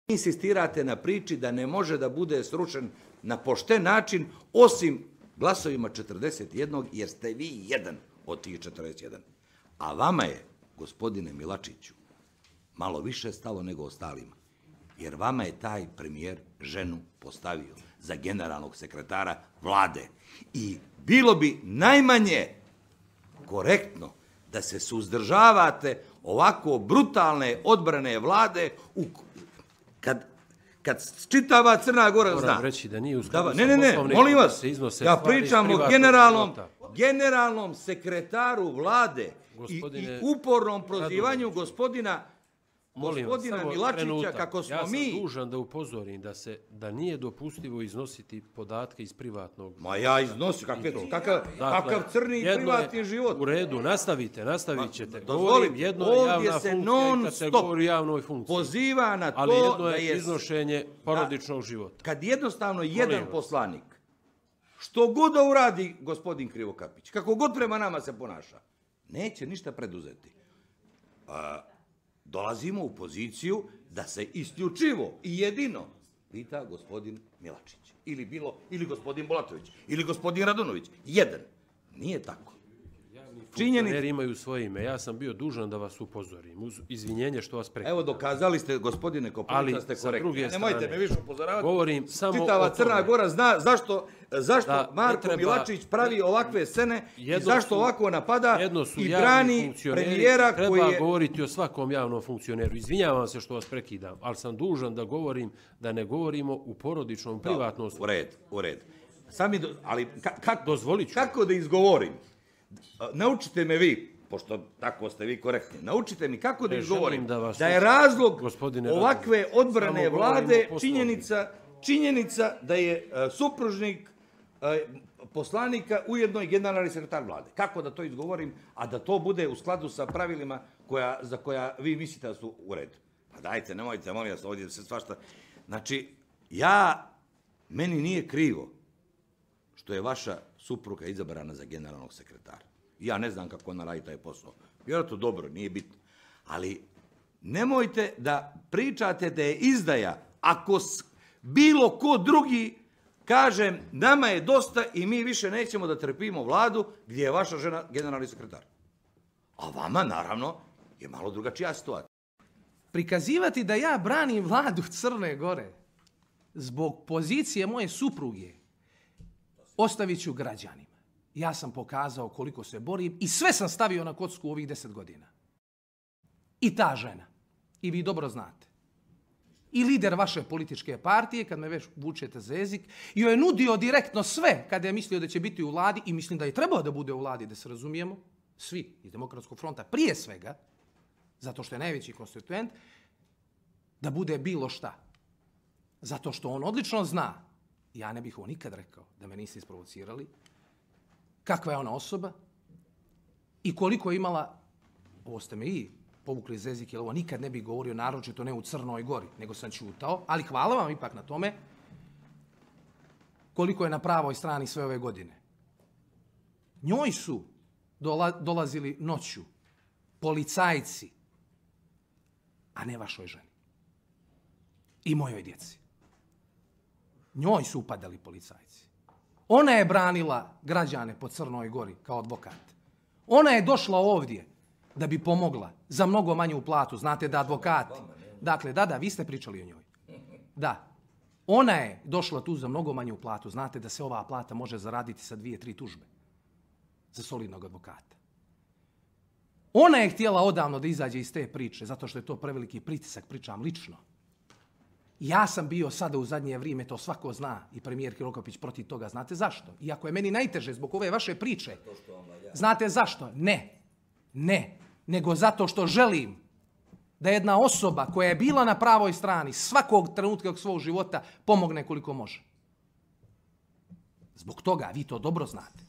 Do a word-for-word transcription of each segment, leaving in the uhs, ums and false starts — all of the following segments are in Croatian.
insistirate na priči da ne može da bude srušen na pošten način, osim glasovima četrdeset jedan, jer ste vi jedan od tih četrdeset jedan. A vama je, gospodine Milačiću, malo više stalo nego ostalima, jer vama je taj premijer ženu postavio za generalnog sekretara vlade. I bilo bi najmanje korektno da se suzdržavate ovako brutalne odbrane vlade u, kad, kad čitava Crna Gora zna. Moram reći da nije u skladu Ne, ne, ne, molim vas, ja pričam o generalnom, generalnom sekretaru vlade i, i upornom prozivanju gospodina gospodina Milačića, kako smo mi... Ja sam dužan da upozorim da se da nije dopustivo iznositi podatke iz privatnog... Ma ja iznosim, kakav, kakav crni privatni život. U redu, nastavite, nastavit ćete. Govorim, jedno je javna funkcija kad se govori o javnoj funkciji. Poziva na to ali jedno da je je iznošenje porodičnog života. Kad jednostavno jedan poslanik, što god da uradi gospodin Krivokapić, kako god prema nama se ponaša, neće ništa preduzeti. A, dolazimo u poziciju da se isključivo i jedino pita gospodin Milačić. Ili bilo, ili gospodin Bulatović, ili gospodin Radunović. Jedan. Nije tako. Funkcioneri imaju svoje ime. Ja sam bio dužan da vas upozorim. Uz izvinjenje što vas prekidam. Evo, dokazali ste, gospodine Koprivnica, ste korektni. Nemojte me više upozoravati. Govorim samo Čitava Crna Gora zna zašto, zašto Marko Milačić pravi ovakve scene i zašto ovako napada i brani premijera koji je... Treba govoriti o svakom javnom funkcioneru. Izvinjavam se što vas prekidam, ali sam dužan da govorim da ne govorimo u porodičnom, privatnom... U red, u red. Sami, ali dozvolit ću. Kako da izgovorim? Naučite me vi, pošto tako ste vi korektni, naučite mi kako da izgovorim da, da je razlog ovakve odbrane vlade činjenica, činjenica da je uh, supružnik uh, poslanika ujedno i generalni sekretar vlade. Kako da to izgovorim, a da to bude u skladu sa pravilima koja, za koja vi mislite da su u redu. Pa dajte, nemojte, molim vas, ovdje se svašta... Znači, ja, meni nije krivo što je vaša supruga izabrana za generalnog sekretara. Ja ne znam kako ona radi taj posao. Vjerojatno dobro, nije bitno. Ali nemojte da pričate da je izdaja, ako bilo ko drugi kaže nama je dosta i mi više nećemo da trpimo vladu gdje je vaša žena generalni sekretar. A vama, naravno, je malo drugačija situacija. Prikazivati da ja branim vladu Crne Gore zbog pozicije moje supruge ostavit ću građanima. Ja sam pokazao koliko se borim i sve sam stavio na kocku u ovih deset godina. I ta žena. I vi dobro znate. I lider vaše političke partije, kad me već vučete za jezik, joj je nudio direktno sve kada je mislio da će biti u vladi i mislim da je trebao da bude u vladi, da se razumijemo, svi iz Demokratskog fronta, prije svega, zato što je najveći konstituent, da bude bilo šta. Zato što on odlično zna, ja ne bih ovo nikad rekao, da me niste isprovocirali, kakva je ona osoba i koliko je imala, ovo ste me i povukli iz jezike, jer ovo nikad ne bih govorio, naročito ne u Crnoj Gori, nego sam ćutao, ali hvala vam ipak na tome, koliko je na pravoj strani sve ove godine. Njoj su dola, dolazili noću policajci, a ne vašoj ženi. I mojoj djeci. Njoj su upadali policajci. Ona je branila građane po Crnoj Gori kao advokat. Ona je došla ovdje da bi pomogla za mnogo manju platu. Znate da advokati... Dakle, da, da, vi ste pričali o njoj. Da. Ona je došla tu za mnogo manju platu. Znate da se ova plata može zaraditi sa dvije, tri tužbe. Za solidnog advokata. Ona je htjela odavno da izađe iz te priče, zato što je to preveliki pritisak, pričam lično. Ja sam bio sada u zadnje vrijeme, to svako zna, i premijer Krivokapić protiv toga. Znate zašto? Iako je meni najteže zbog ove vaše priče. Znate zašto? Ne. Ne. Nego zato što želim da jedna osoba koja je bila na pravoj strani svakog trenutka svog života pomogne koliko može. Zbog toga, vi to dobro znate.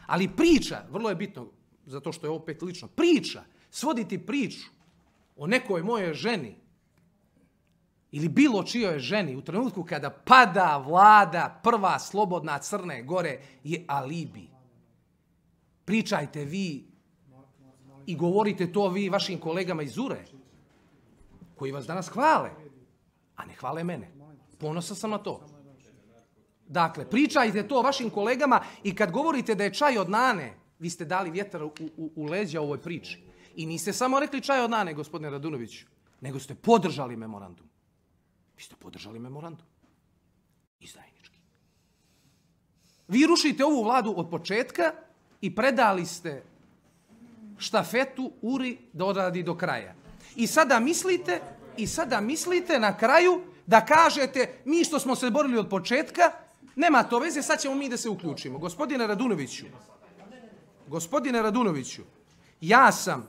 Ali priča, vrlo je bitno, zato što je opet lično, priča, svoditi priču o nekoj mojoj ženi ili bilo čijoj ženi u trenutku kada pada vlada prva slobodna Crne Gore je alibi. Pričajte vi i govorite to vi vašim kolegama iz U R E, koji vas danas hvale. A a ne hvale mene. Ponosan sam na to. Dakle, pričajte to vašim kolegama i kad govorite da je čaj od nane, vi ste dali vjetar u, u, u leđa ovoj priči. I niste samo rekli čaj od nane, gospodine Radunoviću, nego ste podržali memorandum. Vi ste podržali memorandum. Izdajnički. Vi rušite ovu vladu od početka i predali ste štafetu Uri da odradi do kraja. I sada mislite, i sada mislite na kraju da kažete mi što smo se borili od početka, nema to veze, sad ćemo mi da se uključimo. Gospodine Radunoviću, gospodine Radunoviću, ja sam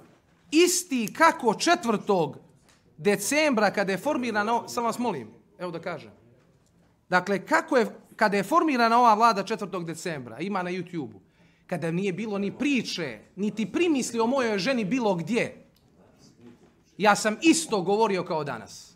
isti kako četvrtog decembra kada je formirana, samo vas molim, evo da kažem. Dakle, kako je, kada je formirana ova vlada četvrtog decembra, ima na YouTube-u, kada nije bilo ni priče, niti primisli o mojoj ženi bilo gdje, ja sam isto govorio kao danas.